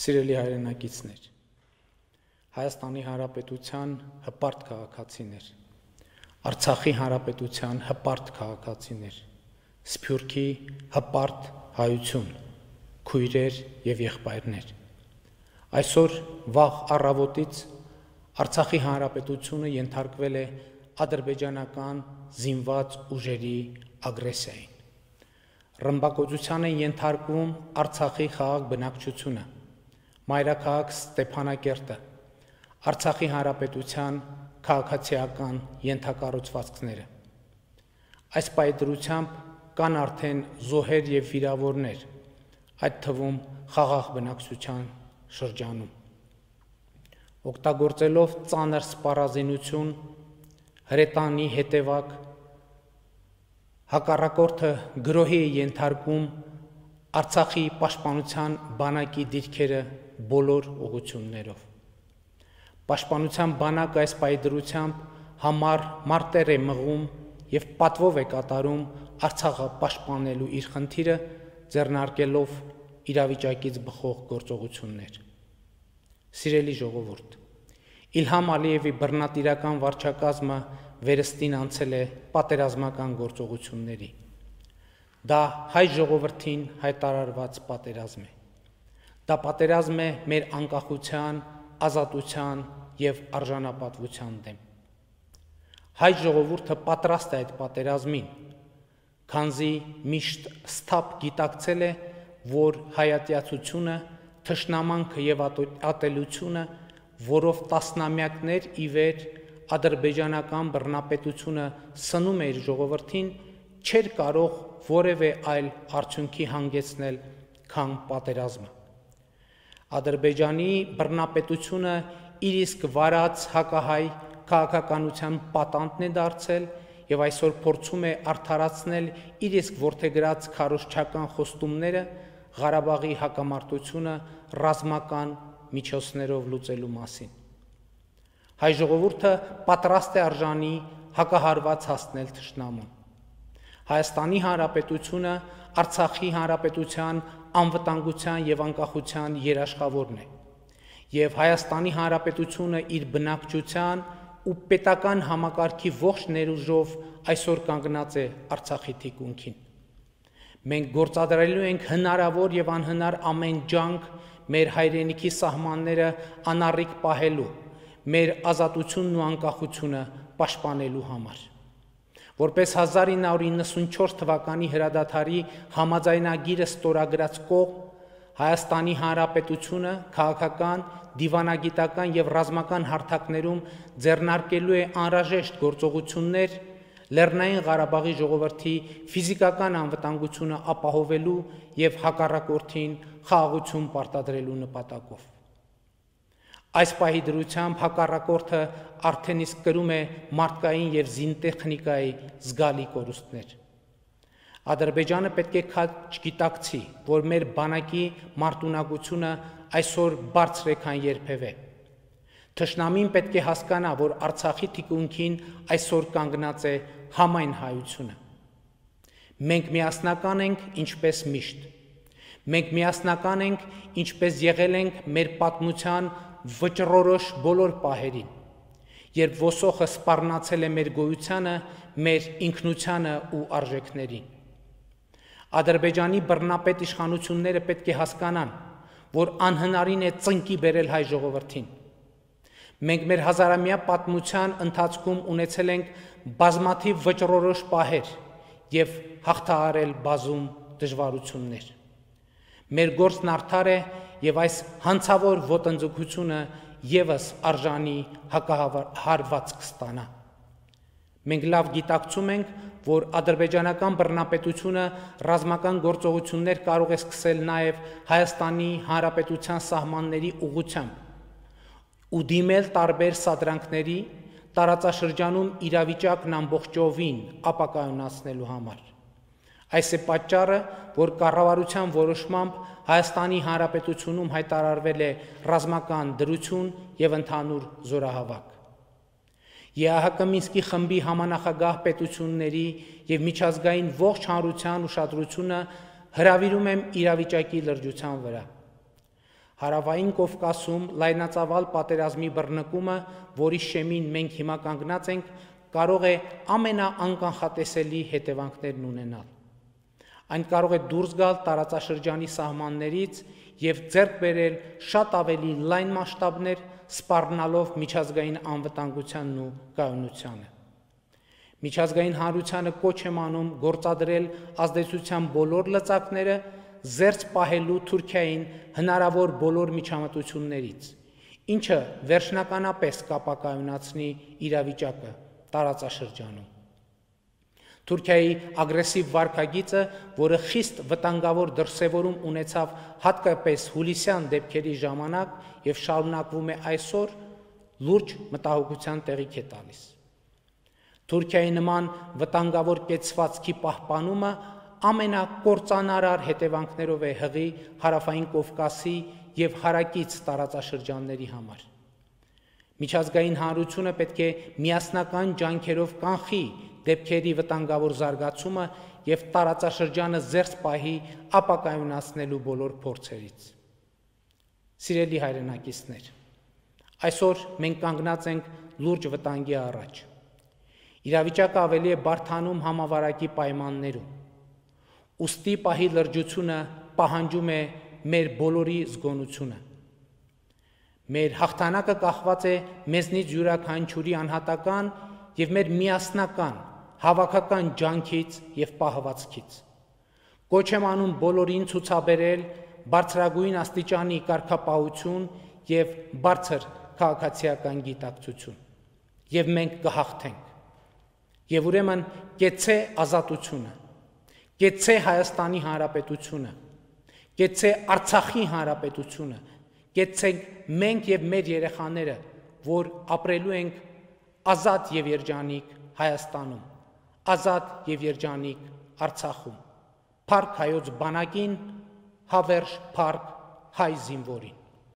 Սիրելի հայրենակիցներ, Հայաստանի Հանրապետության հպարտ քաղաքացիներ, Արցախի Հանրապետության հպարտ քաղաքացիներ, Սփյուռքի հպարտ հայություն, քույրեր եւ եղբայրներ։ Այսօր վաղ առավոտից Արցախի Հանրապետությունը ենթարկվել է ադրբեջանական զինված ուժերի ագրեսիային։ Ռմբակոծության են ենթարկվում Արցախի խաղաղ բնակչությունը, մայրաքաղաք Ստեփանակերտը, Արցախի Հանրապետության քաղաքացիական ենթակառուցվածքները։ Այս պայծրությամբ կան արդեն զոհեր եւ վիրավորներ, այդ թվում խաղաղ բնակչության շրջանում։ Օգտագործելով ծանր սպառազինություն, հրետանի հետևակ, հակառակորդը գրոհի է ենթարկում Արցախի պաշտպանության բանակի դիրքերը բոլոր ուղղություններով։ Պաշտպանության բանակը այս պայծրությամբ համառ մարտեր է մղում եւ պատվով է կատարում Արցախը պաշտպանելու իր խնդիրը, ձեռնարկելով իրավիճակից բխող գործողություններ։ Սիրելի ժողովուրդ, Իլհամ Ալիևի բռնատիրական վարչակազմը վերստին անցել է պատերազմական գործողությունների։ Դա հայ ժողովրդին հայտարարված պատերազմ է։ Դա պատերազմ է մեր անկախության, ազատության եւ արժանապատվության դեմ։ Հայ ժողովուրդը պատրաստ է այդ պատերազմին, քանզի միշտ սթափ գիտակցել է, որ հայատյացությունը, թշնամանքը եւ ատելությունը, որով տասնամյակներ ի վեր ադրբեջանական բռնապետությունը սնում է իր ժողովրդին, չէր կարող որևէ այլ արդյունքի հանգեցնել, քան պատերազմը։ Ադրբեջանի բռնապետությունը իր իսկ վարած հակահայ քաղաքականության պատանդն է դարձել եւ այսօր փորձում է արդարացնել իր իսկ որդեգրած քարոզչական խոստումները Ղարաբաղի հակամարտությունը ռազմական միջոցներով լուծելու մասին։ Հայ ժողովուրդը պատրաստ է արժանի հակահարված հասնել թշնամուն։ Հայաստանի Հանրապետությունը Արցախի Հանրապետության անվտանգության եւ անկախության երաշխավորն է, եւ Հայաստանի Հանրապետությունը իր բնակչության ու պետական համակարգի ողջ ներուժով այսօր կանգնած է Արցախի թիկունքին։ Մենք գործադրելու ենք հնարավոր եւ անհնար ամեն ջանք մեր հայրենիքի սահմանները անառիկ պահելու, մեր ազատությունն ու անկախությունը պաշտպանելու համար։ Որպես 1994 թվականի հրադադարի համաձայնագիրը ստորագրած կողմ, Հայաստանի Հանրապետությունը քաղաքական, դիվանագիտական եւ ռազմական հարթակներում ձեռնարկելու է անհրաժեշտ գործողություններ Լեռնային Ղարաբաղի ժողովրդի ֆիզիկական անվտանգությունը ապահովելու եւ հակառակորդին խաղաղություն պարտադրելու նպատակով։ Այս պահի դրությամբ հակառակորդը արդեն իսկ կրում է մարդկային եւ զինտեխնիկայի զգալի կորուստներ։ Ադրբեջանը պետք է չգիտակցի, որ մեր բանակի մարտունակությունը այսօր բարձր է, քան երբևէ։ Թշնամին պետք է հասկանա, որ Արցախի թիկունքին այսօր կանգնած է համայն հայությունը։ Մենք միասնական ենք, ինչպես միշտ։ Մենք միասնական ենք, ինչպես եղել ենք մեր պատմության վճռորոշ բոլոր պահերին, երբ ոսոխը սպառնացել է մեր գոյությանը, մեր ինքնությանը ու արժեքներին։ Ադրբեջանի բռնապետ իշխանությունները պետք է հասկանան, որ անհնարին է ծնկի բերել հայ ժողովրդին։ Մենք մեր հազարամյա պատմության ընթացքում ունեցել ենք բազմաթիվ վճռորոշ պահեր եւ հաղթահարել բազում դժվարություններ։ Մեր գործն արդար է եւ այս հանցավոր ոտնձգությունը եւս արժանի հակահարված կստանա։ Մենք լավ գիտակցում ենք, որ ադրբեջանական բռնապետությունը ռազմական գործողություններ կարող է սկսել նաեւ Հայաստանի Հանրապետության սահմանների ուղղությամբ ու դիմել տարբեր սադրանքների տարածաշրջանում իրավիճակն ամբողջովին ապակայունացնելու համար։ Այս է պատճառը, որ կառավարության որոշմամբ Հայաստանի Հանրապետությունում հայտարարվել է ռազմական դրություն եւ ընդհանուր զորահավաք։ ԵԱՀԿ Մինսկի խմբի համանախագահ պետությունների եւ միջազգային ողջ հանրության ուշադրությունը հրավիրում եմ իրավիճակի լրջության վրա։ Հարավային Կովկասում լայնածավալ պատերազմի բռնկումը, որի շեմին մենք հիմա կանգնած ենք, կարող է ամենաանկանխատեսելի հետևանքներն ունենալ։ Այն կարող է դուրս գալ տարածաշրջանի սահմաններից և ձեռք բերել շատ ավելի լայն մասշտաբներ, սպառնալով միջազգային անվտանգությանն ու կայունությանը։ Միջազգային հանրությանը կոչ եմ անում գործադրել ազդեցության բոլոր լծակները, զերծ պահելու Թուրքիային հնարավոր բոլոր միջամտություններից, ինչը վերջնականապես կապակայունացնի իրավիճակը տարածաշրջանում։ Թուրքիայի ագրեսիվ վարքագիծը, որը խիստ վտանգավոր դրսևորում ունեցավ հատկապես հուլիսյան դեպքերի ժամանակ և շարունակվում է այսօր, լուրջ մտահոգության տեղիք է տալիս։ Թուրքիայի նման վտանգավոր կեցվածքի պահպանումը ամենակործանարար հետևանքներով է հղի Հարավային Կովկասի և հարակից տարածաշրջանների համար։ Միջազգային հանրությունը պետք է միասնական ջանքերով կանխի դեպքերի վտանգավոր զարգացումը և տարածաշրջանը զերծ պահի ապակայունացնելու բոլոր փորձերից։ Սիրելի հայրենակիցներ, այսօր մենք կանգնած ենք լուրջ վտանգի առաջ։ Իրավիճակը ավելի է բարդանում համավարակի պայմաններում։ Ուստի պահի լրջությունը պահանջում է մեր բոլորի զգոնությունը։ Մեր հաղթանակը կախված է մեզնից յուրաքանչյուրի անհատական և մեր միասնական, հավաքական ջանքից և պահվածքից։ Կոչ եմ անում բոլորին ցուցաբերել բարձրագույն աստիճանի կարգապահություն և բարձր քաղաքացիական գիտակցություն, և մենք կհաղթենք։ Եվ ուրեմն կեցցե ազատությունը, կեցցե Հայաստանի Հանրապետությունը, կեցցե Արցախի Հանրապետությունը, կեցցենք մենք և մեր երեխաները, որ ապրելու ենք ազատ և երջանիկ Հայաստանում, ազատ և երջանիկ Արցախում, փառք Հայոց բանակին, հավերժ փառք հայ զինվորին։